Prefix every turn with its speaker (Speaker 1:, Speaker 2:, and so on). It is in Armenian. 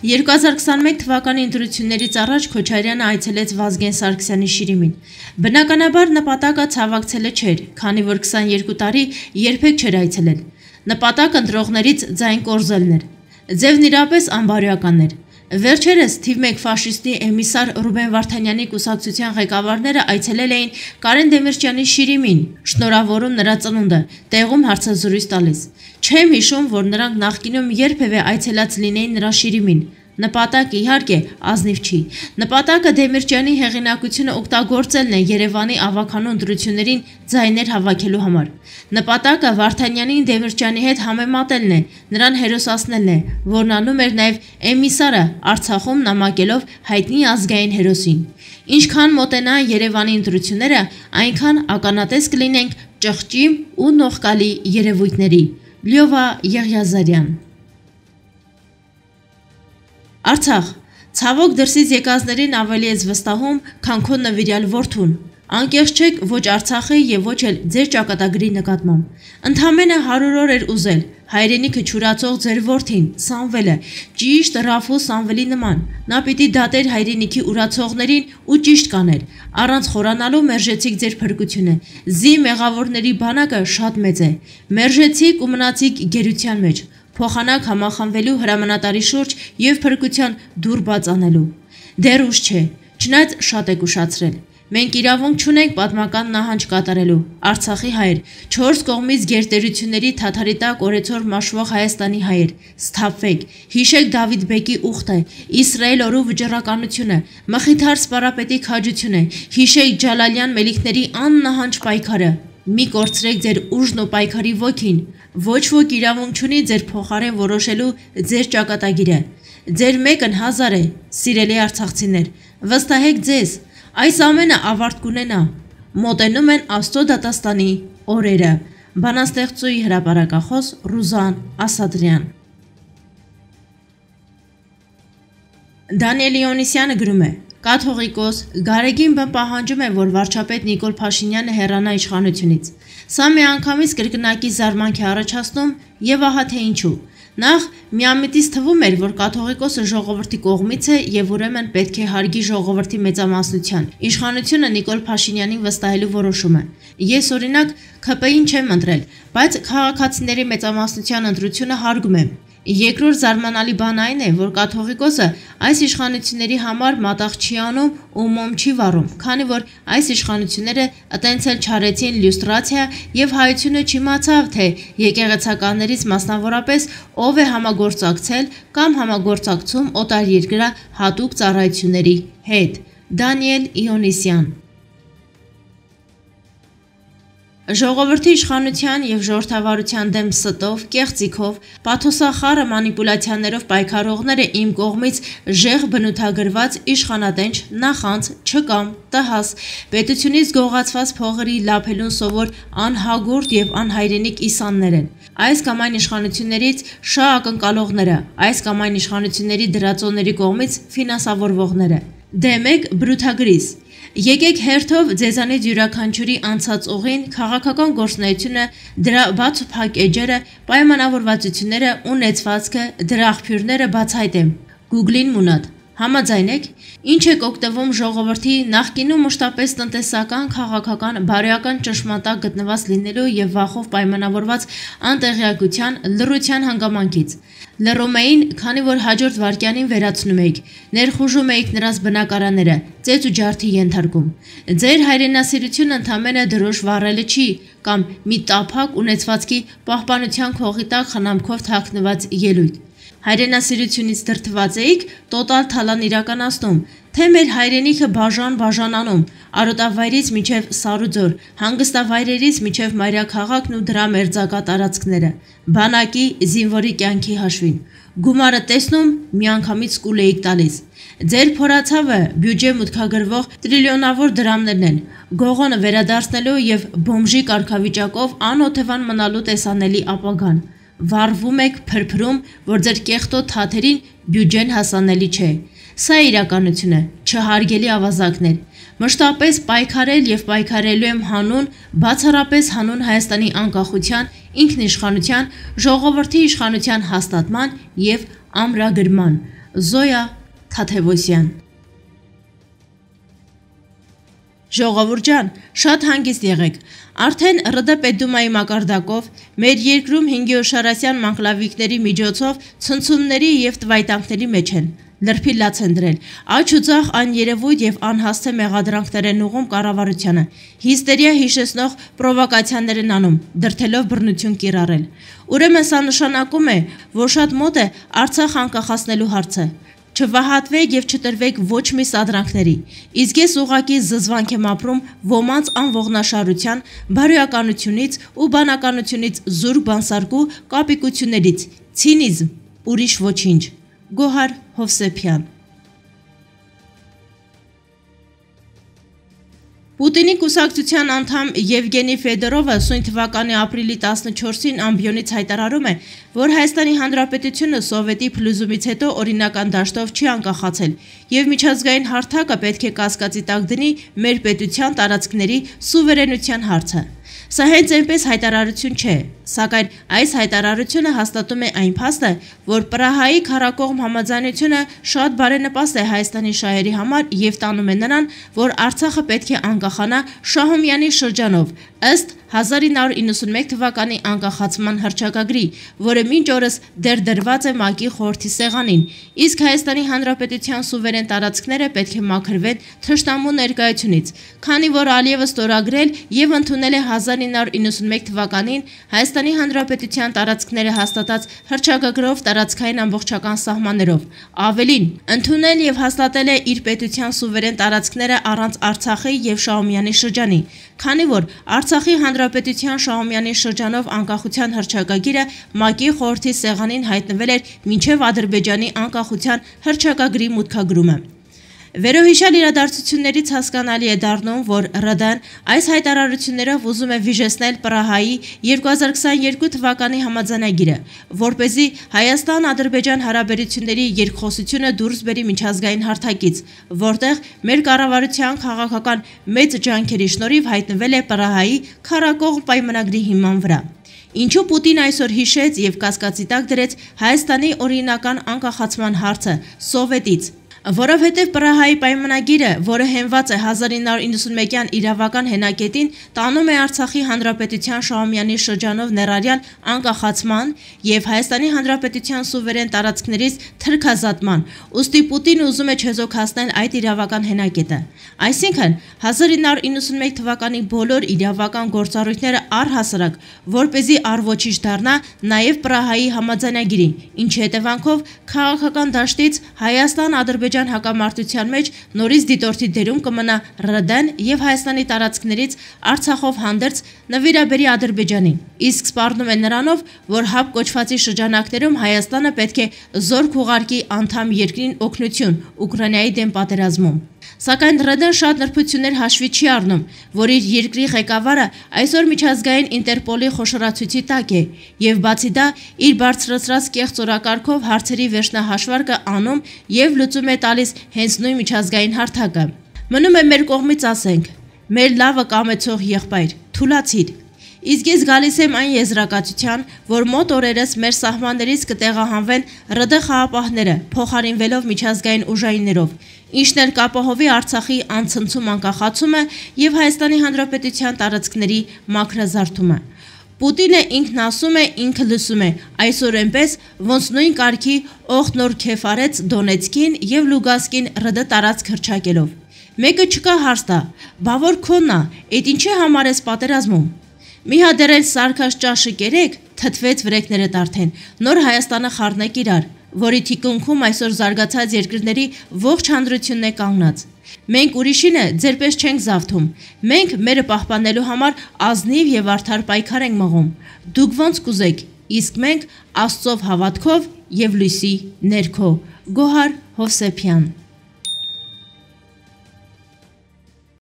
Speaker 1: 2021 թվականի ընտրություններից առաջ Քոչարյանը այցելեց Վազգեն Սարգսյանի Շիրիմին։ Բնականաբար նպատակը ցավակցելը չէր, քանի որ 22 տարի երբեք չէր այցելել։ Նպատակը ընտրողներից ձայն կորզելն էր։ Ձևն իրապես անբարոյական էր։ Վերջերս թիվ 1 ֆաշիստի էմիսար Ռուբեն Վարդանյանի կուսակցության ղեկավարները այցելել էին Կարեն Դեմիրճյանի Շիրիմին, շնորհավորում նրա ծնունդը, տեղում հարցազրույց տալիս։ Չեմ հիշում, որ նրանք նախկինում երբևէ այցելած լինեին նրա Շիրիմին։ Նպատակը իհարկե ազնիվ չի։ Նպատակը Դեմիրճյանի հեղինակությունը օգտագործելն է Երևանի ավագանու ընտրություններին ձայներ հավաքելու համար։ Նպատակը Վարդանյանին Դեմիրճյանի հետ համեմատելն է, նրան հերոսացնելն է, որն անում էր նաև էմիսարը Արցախում նամակելով հայտնի ազգային հերոսին։ Ինչքան մոտենան Երևանի ընտրությունները, այնքան ականատես կլինենք ճղճի ու նողկալի երևույթների։ Լյովա Եղիազարյան։ Արցախ, ցավոք դրսից եկածներին ավելի ես վստահում, քան քո նվիրյալ որդուն։ Անկեղծ չեք ոչ Արցախի եւ ոչ էլ ձեր ճակատագրի նկատմամբ։ Ընդամենը 100 օր էր ուզել հայրենիքը չուրացող ձեր որդին, Սամվելը, ճիշտ Ռաֆու Սամվելի նման։ Նա պիտի դատեր հայրենիքի ուրացողներին ու ճիշտ կաներ։ Առանց խորանալու մերժեցիք ձեր փրկությունը։ Զի մեղավորների բանակը շատ մեծ է։ Մերժեցիք ու մնացիք գերության մեջ։ Փոխանակ համախմբվելու հրամանատարի շուրջ եւ փրկության դուռ բաց անելու։ Դեռ ուշ չէ, չնայած շատ եք ուշացրել։ Մենք իրավունք չունենք պատմական նահանջ կատարելու։ Արցախի հայեր, 4 կողմից գերտերությունների թաթարի տակ օրեցօր մաշվող Հայաստանի հայեր, սթափվեք, հիշեք Դավիթ բեկի ուխտը, Իսրայել օրու վճռականությունը, Մխիթար սպարապետի քաջությունը, հիշեք Ջալալյան մելիքների աննահանջ պայքարը։ Մի կորցրեք ձեր ուժն ու պայքարի ոգին։ Ոչ ոք իրավունք չունի ձեր փոխարեն որոշելու ձեր ճակատագիրը։ Ձեր մեկն 1000 է, սիրելի արցախցիներ, վստահեք ձեզ, այս ամենը ավարտ կունենա։ Մոտենում են Աստծո դատաստանի օրերը։ Բանաստեղծուհի հրապարակախոս Ռուզան Ասադրյան։ Դանիել Իոնիսյանը գրում է. Կաթողիկոս Գարեգին բն պահանջում է, որ վարչապետ Նիկոլ Փաշինյանը հեռանա իշխանությունից։ Սա միանգամից կրկնակի զարմանք է առաջացնում եւ ահա թե ինչու։ Նախ միամիտից թվում էր, որ կաթողիկոսը ժողովրդի կողմից է եւ ուրեմն պետք է հարգի ժողովրդի մեծամասնության իշխանությունը Նիկոլ Փաշինյանին վստահելու որոշումը։ Ես օրինակ ՔՊ-ին չեմ ընտրել, բայց քաղաքացիների մեծամասնության ընտրությունը հարգում եմ։ Երկրորդ զարմանալի բան այն է, որ կաթողիկոսը այս իշխանությունների համար մատաղ չի անում ու մոմ չի վառում, քանի որ այս իշխանությունները ըտենցել չարեցին լյուստրացիա եւ հայությունը չիմացավ, թե եկեղեցականներից մասնավորապես ով է համագործակցել կամ համագործակցում օտարերկրյա հատուկ ծառայությունների հետ։ Դանիել Իոնիսյան։ Ժողովրդի իշխանության եւ ժողովրդավարության դեմ ստով, կեղծիքով, պաթոսախառը մանիպուլյացիաներով պայքարողները իմ կողմից ժեղ բնութագրված իշխանատենչ, նախանց, չկամ, տհաս, պետությունից գողացված փողերի լափելուն սովոր անհագուրդ եւ անհայրենիք իսաններ են։ Այս կամ այն իշխանություններից շահ ակնկալողները, այս կամ այն իշխանությունների դրածոների կողմից ֆինանսավորվողները։ Դեմ եք բրութագրիս։ Եկեք հերթով ձեզանից յուրաքանչյուրի անցած ուղին, քաղաքական գործունեությունը, դրա բաց ու փակ էջերը, պայմանավորվածությունները, ունեցվածքը, դրա աղբյուրները բացահայտեմ։ Google-ին մունատ։ Համաձայն եք, ինչ եք օգտվում ժողովրդի նախկինում մշտապես տնտեսական, քաղաքական, բարոյական ճշմարտակ գտնված լինելու եւ վախով պայմանավորված անտեղյակության, լռության հանգամանքից։ Լռում էին, քանի որ հաջորդ վայրկյանին վերացնում էիք, ներխուժում էիք նրանց բնակարանները, ծեծ ու ջարդի ենթարկում։ Ձեր հայրենասիրությունը ընդամենը դրոշ վառելը չի, կամ մի տափակ ունեցվածքի պահպանության քողի տակ խնամքով թաքնված ելույթ։ Հայրենասիրությունից դրդված էիք տոտալ թալան իրականացնում, թե մեր հայրենիքը բաժանանում, արոտավայրից մինչև Սարուձոր, հանգստավայրերից մինչև մայրաքաղաքն ու դրա մերձակա տարածքները, բանակի, զինվորի կյանքի հաշվին։ Գումարը տեսնում միանգամից կուլ էիք տալիս։ Ձեր փորացավը բյուջե մուտքագրվող տրիլիոնավոր դրամներն են, գողոնը վերադարձնելու եւ բոմժի կարգավիճակով անօթևան մնալու տեսանելի ապագան։ Վառվում եք փրփրում, որ ձեր կեղտոտ թաթերին բյուջեն հասանելի չէ։ Սա է իրականությունը, չհարգելի ավազակներ։ Մշտապես պայքարել եւ պայքարելու եմ հանուն, բացառապես հանուն Հայաստանի անկախության, ինքնիշխանության, ժողովրդի իշխանության հաստատման եւ ամրագրման։ Զոյա Թաթևոսյան։ Ժողովուրդ ջան, շատ հանգիստ եղեք։ Արդեն ՌԴ Պետդումայի մակարդակով մեր երկրում հինգեոշարասյան մանկլավիկների միջոցով ցնցումների եւ տվայտանքների մեջ են։ Լրբի լաց են դրել, աջ ու ձախ աներևույթ եւ անհասցե մեղադրանքներ են ուղում կառավարությանը, հիստերիա հիշեցնող պրովոկացիաներ են անում, դրթելով բռնություն կիրառել։ Ուրեմն սա նշանակում է, որ շատ մոտ է Արցախ անկախացնելու հարցը։ Չվահատվեք եւ չտրվեք ոչ մի սադրանքների, իսկ ես ուղղակի զզվանք եմ ապրում ոմանց անողնաշարության, բարոյականությունից ու բանականությունից զուրկ բանսարկու կապիկություններից, ցինիզմ, ուրիշ ոչինչ։ Գոհար Հովսեփյան։ Պուտինի կուսակցության անդամ Եվգենի Ֆեդորովը սույն թվականի ապրիլի 14-ին ամբիոնից հայտարարում է, որ Հայաստանի Հանրապետությունը Սովետի փլուզումից հետո օրինական դաշտով չի անկախացել եւ միջազգային հարթակը պետք է կասկածի տակ դնի մեր պետության տարածքների սուվերենության հարցը։ Սա հենց այնպես հայտարարություն չէ, սակայն այս հայտարարությունը հաստատում է այն փաստը, որ Պրահայի քառակողմ համաձայնությունը շատ բարենպաստ է Հայաստանի շահերի համար եւ տանում է նրան, որ Արցախը պետք է անկախանա Շահումյանի շրջանով, ըստ 1991 թվականի անկախացման հռչակագրի, որը մինչ օրս դեռ դրված է ՄԱԿ-ի խորհրդի սեղանին, իսկ Հայաստանի Հանրապետության սուվերեն տարածքները պետք է մաքրվեն թշնամու ներկայությունից, քանի որ Ալիևը ստորագրել եւ ընդունել է 1991 թվականին Հայաստանի Հանրապետության տարածքները հաստատած հռչակագրով տարածքային ամբողջական սահմաններով, ավելին, ընդունել եւ հաստատել է իր պետության սուվերեն տարածքները առանց Արցախի եւ Շահումյանի շրջանի, քանի որ Արցախի Հանրապետության Շահումյանի շրջանով անկախության հռչակագիրը ՄԱԿ-ի խորհրդի սեղանին հայտնվել էր մինչև Ադրբեջանի անկախության հռչակագրի մուտքագրումը։ Վերոհիշյալ իրադարձություններից հասկանալի է դառնում, որ ՌԴ-ն այս հայտարարություններով ուզում է վիժեցնել Պրահայի 2022 թվականի համաձայնագիրը, որպեսզի Հայաստան-Ադրբեջան հարաբերությունների երկխոսությունը դուրս բերի միջազգային հարթակից, որտեղ մեր կառավարության քաղաքական մեծ ջանքերի շնորհիվ հայտնվել է Պրահայի քառակողմ պայմանագրի հիման վրա։ Ինչու Պուտին այսօր հիշեց եւ կասկածի տակ դրեց Հայաստանի օրինական անկախացման հարցը Սովետից, որովհետև Պրահայի պայմանագիրը, որը հենված է 1991-յան իրավական հենակետին, տանում է Արցախի Հանրապետության Շահումյանի շրջանով ներառյալ անկախացման եւ Հայաստանի Հանրապետության սուվերեն տարածքներից թրքազատման, ուստի Պուտինը ուզում է չեզոքացնել այդ իրավական հենակետը։ Այսինքն 1991 թվականի բոլոր իրավական գործառույթները առհասարակ, որպեսզի առոչիչ դառնա նաեւ Պրահայի համաձայնագիրին, ինչի հետևանքով քաղաքական դաշտից Հայաստան-Ադրբեջան հակամարտության մեջ նորից դիտորդի դերում կմնա ՌԴ-ն եւ Հայաստանի տարածքներից Արցախով հանդերձ նվիրաբերի Ադրբեջանին, իսկ սպառնում է նրանով, որ ՀԱՊ կոչվածի շրջանակներում Հայաստանը պետք է զորք ուղարկի անդամ երկրին օգնություն Ուկրաինայի դեմ պատերազմում։ Սակայն ՌԴ-ն շատ նրբություններ հաշվի չի առնում, որ իր երկրի ղեկավարը այսօր միջազգային Ինտերպոլի խոշորացույցի տակ է եւ բացի դա իր բարձրացրած կեղծ օրակարգով հարցերի վերջնահաշվարկը անում եւ լուծում է տալիս հենց նույն միջազգային հարթակը։ Մնում է մեր կողմից ասենք. մեր լավը կամեցող եղբայր, թուլացիր։ Իսկ ես գալիս եմ այն եզրակացության, որ մոտ օրերս մեր սահմաններից կտեղահանվեն ՌԴ խաղապահները, փոխարինվելով միջազգային ուժայիններով, ինչն էլ կապահովի Արցախի անցնցում անկախացումը եւ Հայաստանի Հանրապետության տարածքների մաքրազարդումը։ Պուտինը ինքն ասում է, ինքը լսում է, այսօր այնպես, ոնց նույն կարգի օղթ նոր քեֆ արեց Դոնեցկին եւ Լուգանսկին ՌԴ տարածք հռչակելով։ Մեկը չկա հարց տա, բա որ քոնն է, այդ ինչի համար ես պատերազմում։ Մի հատ դեռ սարքած ճաշը կերեք, թթվեց վրեկները արդեն, նոր Հայաստանը խառնեք իրար, որի թիկունքում այսօր զարգացած երկրների ողջ հանրությունն է կանգնած։ Մենք ուրիշինը ձերպես չենք զավթում, մենք մերը պահպանելու համար ազնիվ եւ արդար պայքար ենք մղում։ Դուք ոնց կուզեք, իսկ մենք Աստծով հավատքով եւ լույսի ներքո։ Գոհար Հովսեփյան։